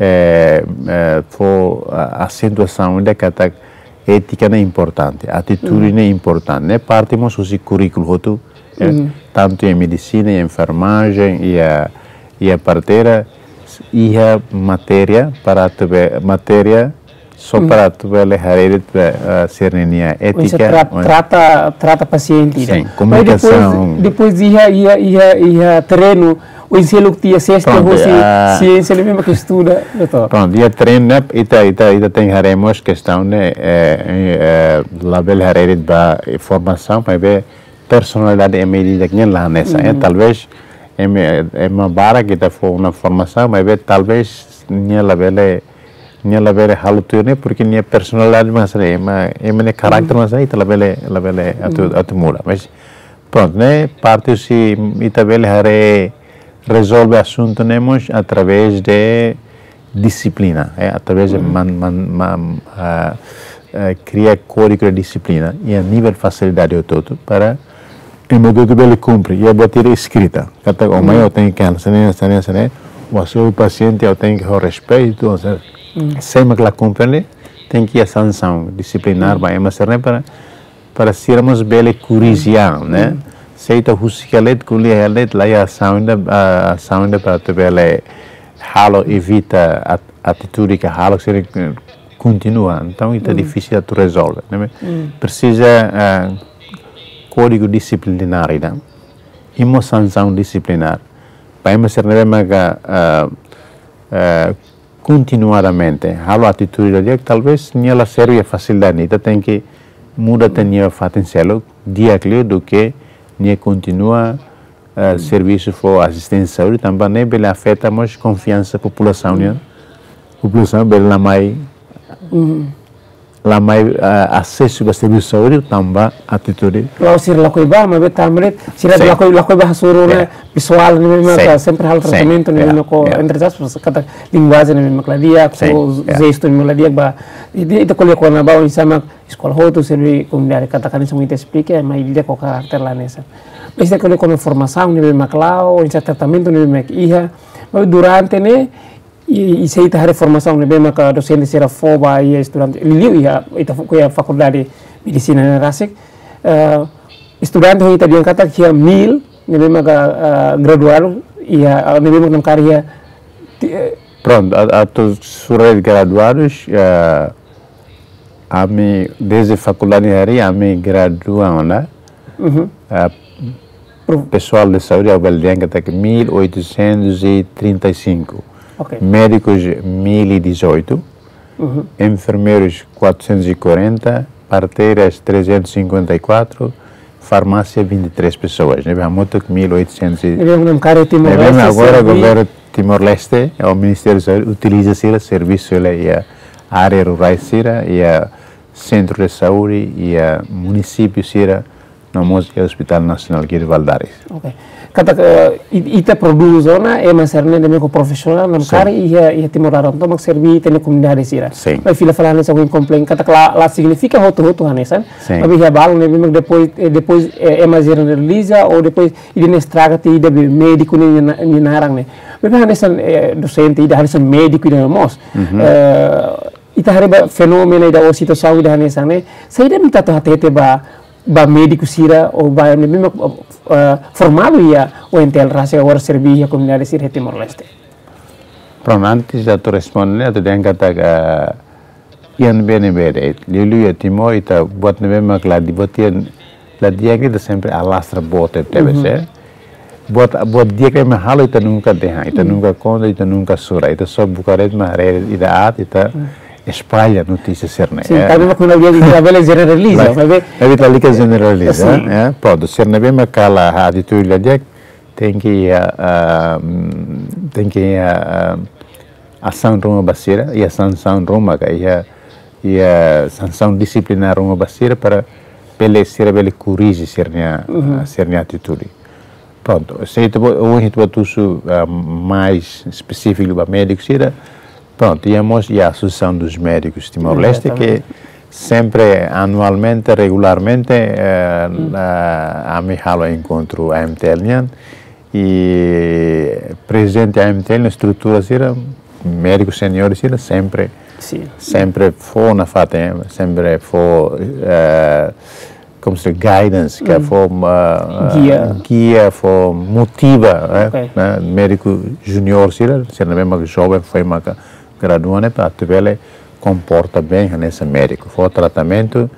eh, eh, fó, ah, asentuasaun ida katak étika ne'e importante, atitude ne'e importante, ne'e parte mós husi kurríkulu hotu, eh, tantu iha medisina, iha enfermajen, iha, iha parteira, iha matéria para atu be-, matéria só para atu bele haree de'it, eh, sira-nia étika, tra-, trata, trata pasiente, sin, komunikasaun. Depois, depois iha, iha, iha, iha terrenu, oinsá loke tiha sesta, pronto, husi siénsia ne'ebé mak estuda, doutór. Pronto, iha terrenu ne'e, ita, ita, ita tenke haree mós kestaun ne'e, eh, eh, labele haree de'it ba formasaun, maibé personalidade ema ida-idak nian la hanesan, eh, talvez ema, ema barak ita fó ona formasaun, maibé talvez nia labele, nia labele halo tuir ne'e, porque nia personalidade mak hanesan ne'e, ema, ema nia karakter mak hanesan ne'e, ita labele, labele atu, atu muda. Mas pronto, ne'e parte husi ita bele haree rezolve asuntu ne'e mós através de dixiplina, eh, através de man-, man-, man-, ah, eh, kria kódigu de dixiplina iha nivel fasilidade hotu-hotu para ema hotu-hotu bele kumpre, iha buat ida eskrita. Katak, ó mai, ó tenke hanesan ne'e, hanesan ne'e, hanesan ne'e, ó hasoru pasiente, ó tenke ho respeitu, ó se, se ema la kumpre, tenke iha sansaun disiplinár ba ema sira-ne'e para, para sira mós bele korrije, ne'e? Se ita husik hela de'it, ko'alia hela de'it, la iha asaun ida, ah, asaun ida para atu bele halo, evita at-, atitude ka halo sira, eh, kontinua. Entaun, ita difisil atu rezolve, ne'e? Presiza, ah, kódigu disiplinár ida. I mós sansaun disiplinár. Ba ema sira ne'ebé maka, ah, ah, kontinuadamente halo atitude la di'ak, talvez nia la serve iha fasilidade ne'e. Ita tenke muda tiha nia fatin seluk, di'ak liu duké nia kontinua, eh, servisu fó asisténsia saúde, tanba ne'e bele afeta mós konfiansa populasaun nian. Populasaun bele la mai, la mai, eh, asesu ba servisu saúde tanba atitude. La'ós sira lakohi bá, maibé tanba ne'e sira lakohi, lakohi bá hasoru ona pesoál ne'ebé maka sempre halo tratamentu ne'ebé maka entre aspas, katak linguajen ne'ebé maka la di'ak, jestu ne'ebé la di'ak ba. Ita, ita ko'alia kona-ba oinsá mak eskola hotu serve komunidade, katak hanesan ita esplika, maibé ida-idak ho karakter la hanesan. Maibé ita ko'alia kona-ba formasaun ne'ebé mak la'o, oinsá tratamentu ne'ebé mak iha. Maibé durante ne'e, i, i se ita haree formasaun ne'ebé maka dosente sira fó ba iha estudante, liuliu iha, ita fó, iha fakuldade medisina ne'e rasik, eh, estudante ho ita dehan katak iha mil ne'ebé maka, eh, graduadu, iha, eh, ne'ebé maka namkari iha, ti-, eh, pronto, a-, atu sura graduadus, eh, ami, dezde fakuldade harii, ami gradua ona, eh, pesoál de saúde, ha'u bele dehan katak mil oitocentos e trinta e cinco. Ok. Médikus, mil e dezoito. Enfermeirus, quatrocentos e quarenta. Parteiras, trezentos e cinquenta e quatro. Farmásia, vinte e três pessoas. Ne'ebé hamutuk mil oitocentos e, ne'ebé namkari Timor-Leste, ne'ebé agora governu Timor-Leste, o Ministériu da Saúde, utiliza sira servisu hela iha área rurais sira, iha sentru de saúde, iha munisípiu sira, no mós iha Hospital Nasionál Guido Valadares. Ok. Katak, eh, i-, ita prodús ona ema sira-ne'e ne'ebé maka profisionál, namkari iha, iha Timor laran tomak serve ita-nia komunidade sira. Sin. Maibé fila fali hanesan ohin komplain, katak la, la signifika hotu-hotu hanesan. Sin. Maibé iha balun ne'ebé maka depois, eh, depois, eh, ema jeneraliza, ou depois ida-ne'e estraga tiha ida be médiku ne'e nia na-, nia naran ne'e. Maibé hanesan, eh, dosente ida, hanesan médiku ida mós. Eh, ita haree ba fenómenu ida ou situasaun ida hanesan ne'e. Saida mak ita atu hatete ba, ba médiku sira ou ba ne'ebé mak, eh, formadu iha U N T L rasik agora serve iha komunidade sira iha Timor-Leste. Pronto, antes atu responde, atu dehan katak, eh, iha ne'ebé-ne'ebé de'it, liuliu iha Timor, ita buat ne'ebé mak la di'ak, buat iha la di'ak ita sempre alastra boot tebes, eh. Buat, buat di'ak ema halo ita nunka dehan, ita nunka konta, ita nunka sura, ita só buka de'it mak haree ida aat, ita espalla notísia sira-ne'e. Sin, eh. Tanba mak kuandu dia ita labele jeneraliza, maibé, maibé ita lalika jeneraliza, sin, eh. Pronto, sira ne'ebé mak halo atitude la di'ak, tenke iha, ah, mm, tenke iha, ah, asaun ruma ba sira, iha sansaun ruma ka, iha, iha sansaun disiplinár ruma ba sira para bele, sira bele korrije sira-nia, ah, sira-nia atitude. Pronto, se ita-boot, ohin ita-boot husu, ah, mais espesífiku ba médiku sira, pronto, iha mós iha Associação dos Médicos Timor-Leste, ke sempre, anualmente, regularmente, eh, ah, ami halo enkontru A M T L nian, i prezidente A M T L, estrutura sira, médiku seniór sira, sempre Sin. Sempre fó nafatin, sempre fó, eh, como se diz, guidance, ke fó, ah, gia, gia, fó motiva, eh, ne'e? Médiku júnior sira, sira ne'ebé mak joven, foin mak gradua ne'e, para atu bele komporta bem hanesan médiku. Fó tratamentu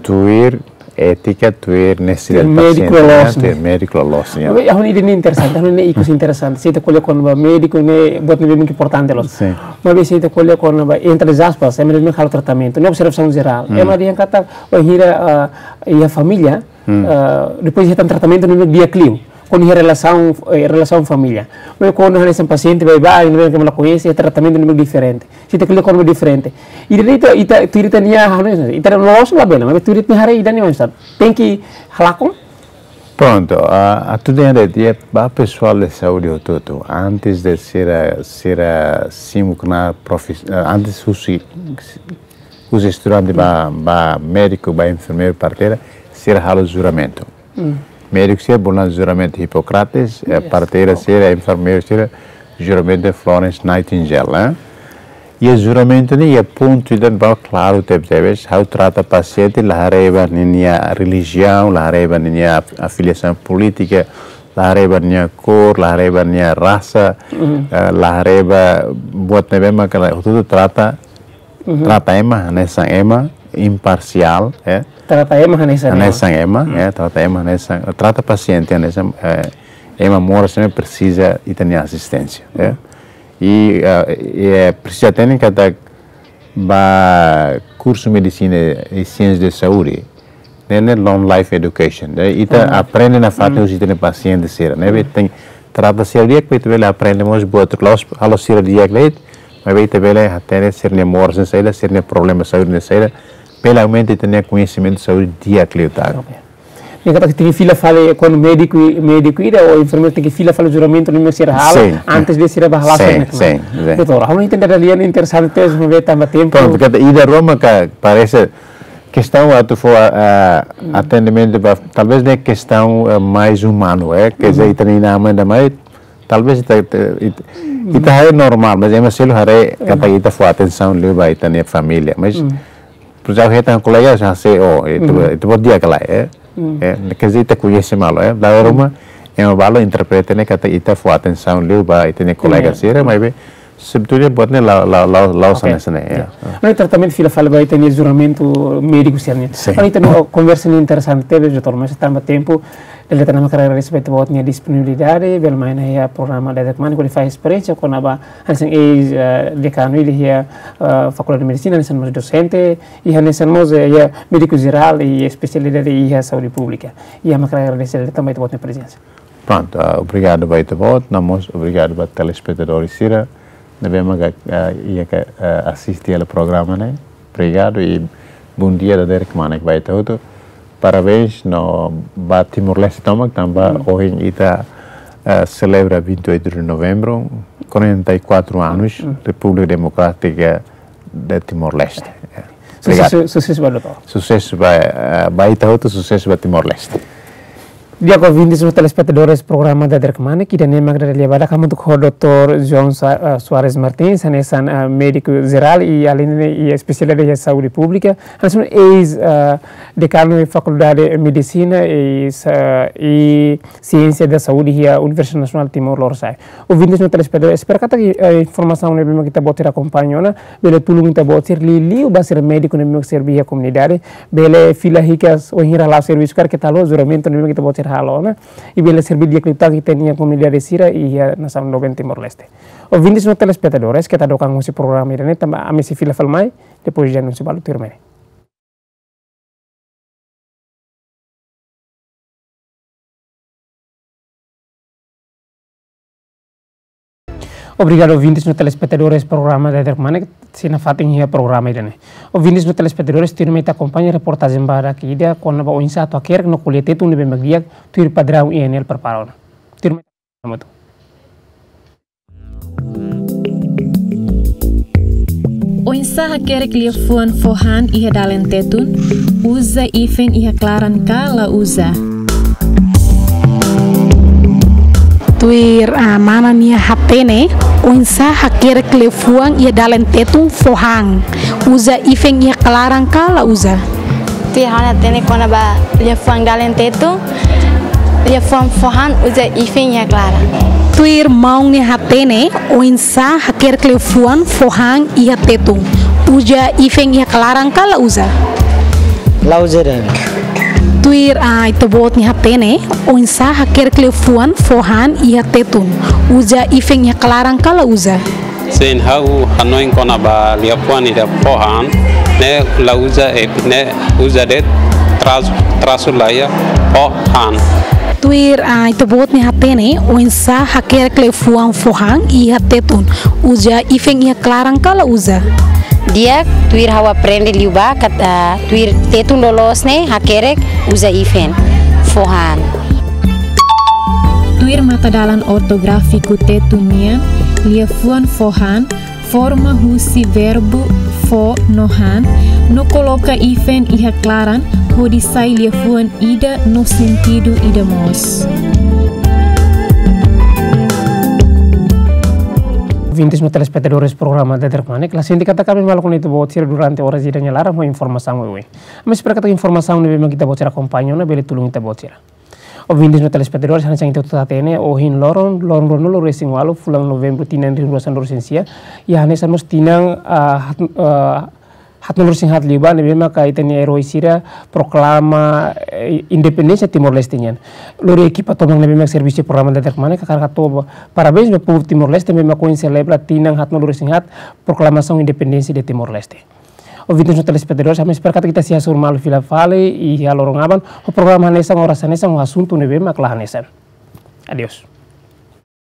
tuir étika, tuir nesesidade, tuir médiku pasiente, ne'e? Loos, ne'e? Tuir médiku loos, ne'e? Maibé, ha'u hanoin ida-ne'e interesante, ha'u hanoin ikus interesante. Se ita ko'alia kona-ba médiku ne'e, buat ne'ebé mak importante loos. Sin. Maibé se ita ko'alia kona-ba, entre aspas, ema ne'ebé halo tratamentu, ne'e observasaun jerál. Ema dehan katak, wainhira, ah, iha família, ah, depois iha tan tratamentu ne'e di'ak liu. Kuandu iha relasaun, eh, relasaun família. Maibé kuandu hanesan pasiente baibain, ne'ebé ke ema la koñese, tratamentu ne'e diferente. Se ita ko'alia kona-ba diferente. Ida-ne'e ita, ita, tuir ita-nia, ita loos labele, maibé tuir ita-nia haree ida-ne'e mak tenke halakon. Prontu, ah, atu dehan de'it ba pesoál de saúde hotu-hotu. Antes de sira, sira simu knaar profis-, ah, antes husi, husi estudante ba, ba médiku, ba enfermeiru, parteira, sira halo juramentu. Médiku sira bolu juramentu Hipócrates, eh, parteira sira, enfermeiru sira, juramentu Florence Nightingale, eh? Iha juramentu ne'e, iha pontu ida klaru tebetebes, ha'u trata pasiente la haree ba ninia relijiaun, la haree ba ninia af-, afiliasaun polítika, la haree ba nia kór, la haree ba nia rasa, eh, la haree ba buat ne'ebé mak, hotu-hotu trata, trata ema hanesan ema, imparsiál, eh. Trata ema hanesan ema. Hanesan ema, eh, trata ema hanesan, trata pasiente hanesan, eh, ema moras ne'ebé presiza ita-nia asisténsia, eh. I, eh, i, eh, presiza hatene katak ba kursu medisina i siénsia de saúde, ne'e, ne'e long life education. Ne'e, ita aprende nafatin husi ita-nia pasiente sira, ne'ebé ita tenke trata sira di'ak, para ita bele aprende mós buat la'ós halo sira di'ak de'it, maibé ita bele hatene sira-nia moras ne'e saida, sira-nia problema saúde ne'e saida, bele aumenta ita-nia koñesimentu saúde di'ak liután. Ok. Ne'e katak tenke fila fali, kuandu médiku, médiku ida ou enfermeiru tenke fila fali juramentu ne'ebé sira halo, sin, antes de sira bá hala'o sira-nia knaar. Sin, sin. Doutór, ha'u hanoin ida-ne'e interesante tebes, maibé tanba tempu. Prontu, katak ida ruma ke parese kestaun atu fó, ah, atendimentu ba, talvez ne'e kestaun, eh, mais umanu, eh, ke dizer, ita-nia inan-aman ida mai, talvez ita, ita, ita, ita haree normál, mas ema seluk haree katak ita fó atensaun liu ba ita-nia família, mas, por exemplo, ita kolega já sei, oh, ita, ita buat di'ak ka lae, eh? Eh, ke dizer, ita koñese malu, eh? Dala ruma, ema balu interpreta ne'e katak ita fó atensaun liu ba ita-nia kolega sira, maibé, sebetulnya buat ne'e la, la, la, la, ok, hanesan ne'e, ya. Ne'e tratamentu fila fali ba ita-nia juramentu médiku sira-nian. Sin. Ne'e ita-nia konversa ne'e interesante tebes, doutór, mas tanba tempu, dala ida tan ha'u hakarak agradese ba ita-boot nia disponibilidade, bele mai ona iha programa Dadeer Kmanek hodi fahe esperiénsia kona-ba hanesan eis, eh, dekanu ida iha, eh, Fakuldade Medisina, hanesan mós dosente, i hanesan mós, eh, iha médiku jerál i espesialidade iha saúde públika. I ha'u hakarak agradese dala ida tan ba ita-boot nia prezensa. Prontu, ah, obrigadu ba ita-boot, no mós obrigadu ba telespetadór sira ne'ebé mak, ah, iha ke, ah, asiste hela programa ne'e. Obrigadu i bondia Dadeer Kmanek ba ita hotu. Parabéns no ba Timor-Leste tomak, tanba ohin ita, ah, selebra vinte e oito de novembro, quarenta e quatro anos, República Democrática de Timor-Leste. Eh, obrigadu. Susesu, susesu ba doutór. Susesu ba, eh, ba ita hotu, susesu ba Timor-Leste. Di'ak, ouvintes no telespetadores programa Dadeer Kmanek, ida-ne'e mak dada lia badak hamutuk ho doutór João Sa-, eh, Soares Martins, hanesan, eh, médiku jerál i alinde i espesialista iha saúde públika, hanesan eis, eh, dekanu iha Fakuldade Medisina i sa-, i Siénsia da Saúde iha Universidade Nasionál Timor Lorosa'e. Ouvintes no telespetadór, espera katak, eh, informasaun ne'ebé mak ita-boot sira akompaña ona, bele tulun ita-boot sira liuliu ba sira médiku ne'ebé mak serbí iha komunidade, bele fila hikas wainhira hala'o servisu karik keta haluha juramentu ne'ebé mak ita-boot sira halo ona, i bele serbí di'ak liután ita-nia komunidade sira iha nasaun doben Timor-Leste. Ouvintes no telespetadores, keta hadook an husi programa ida-ne'e, tanba ami sei fila fali mai, depois de anúnsiu balu tuirmai. Obrigadu, ouvintes no telespetadores programa Dadeer Kmanek, sei nafatin iha programa ida-ne'e. Ouvintes no telespetadores, tuirmai ita akompaña reportajen badak ida kona-ba oinsá atu hakerek no ko'alia Tetun ne'ebé mak di'ak, tuir padraun I N L prepara ona. Tuirmai ita hamutuk. Oinsá hakerek liafuan fó han iha dalen Tetun, uza ifen iha klaran ka la uza. Tuir, ah, mana nia hatene, Oinsá hakerek liafuan iha dalen Tetun fó han? Uza ifen iha klaran ka la uza? Tuir ha'u-nia hatene kona-ba liafuan dalen Tetun, liafuan fó han uza ifen iha klaran. Tuir maun nia hatene, oinsá hakerek liafuan fó han iha Tetun? Uza ifen iha klaran ka la uza? La uza de'it. Tuir, ah, ita-boot nia hatene, oinsá hakerek liafuan fó han iha Tetun? Uza ifen iha klaran ka la uza? Sin, ha'u hanoin kona-ba liafuan ida fó han, ne'e la uza, eh, ne'e uza de'it, trasu, trasu laiha, fó han. Tuir, ah, ita-boot nia hatene, oinsá hakerek liafuan fó han iha Tetun? Uza ifen iha klaran ka la uza? Di'ak, tuir ha'u aprende liubá katak, ah, tuir Tetun loloos ne'e hakerek uza ifen, fó han. Tuir matadalan ortográfiku Tetun nian, liafuan fó han forma husi verbu fó no han, no koloka ifen iha klaran, hodi sai liafuan ida no sentidu ida mós. Ouvintes no telespetadores programa Daderkmanek, la sente katak ami maluk ne'e ita-boot sira durante oras ida nia laran ho informasaun oioin. Ami espera katak informasaun ne'ebé mak ita-boot sira akompaña ona bele tulun ita-boot sira. Ouvintes no telespetadores, hanesan ita hotu hatene, ohin loron, loron ruanulu-resin-ualu, fulan Novembru, tinan rihun rua sanulu-resin-sia, iha hanesan mós tinan, ah, hat-, ah, haatnulu-resin-haat liubá, ne'ebé maka ita-nia eroi sira proklama, eh, independénsia Timor-Leste nian. Lori ekipa tomak ne'ebé mak servisu programa Daderkmanek, hakarak hato'o parabéns ba povu Timor-Leste, ne'ebé mak ohin selebra tinan haatnulu-resin-haat proklamasaun independénsia de Timor-Leste. Ouvintes no telespetadores, ami espera katak ita sei hasoru malu fila fali iha loron aban, ho programa hanesan, oras hanesan, ho asuntu ne'ebé mak la hanesan. Adeus.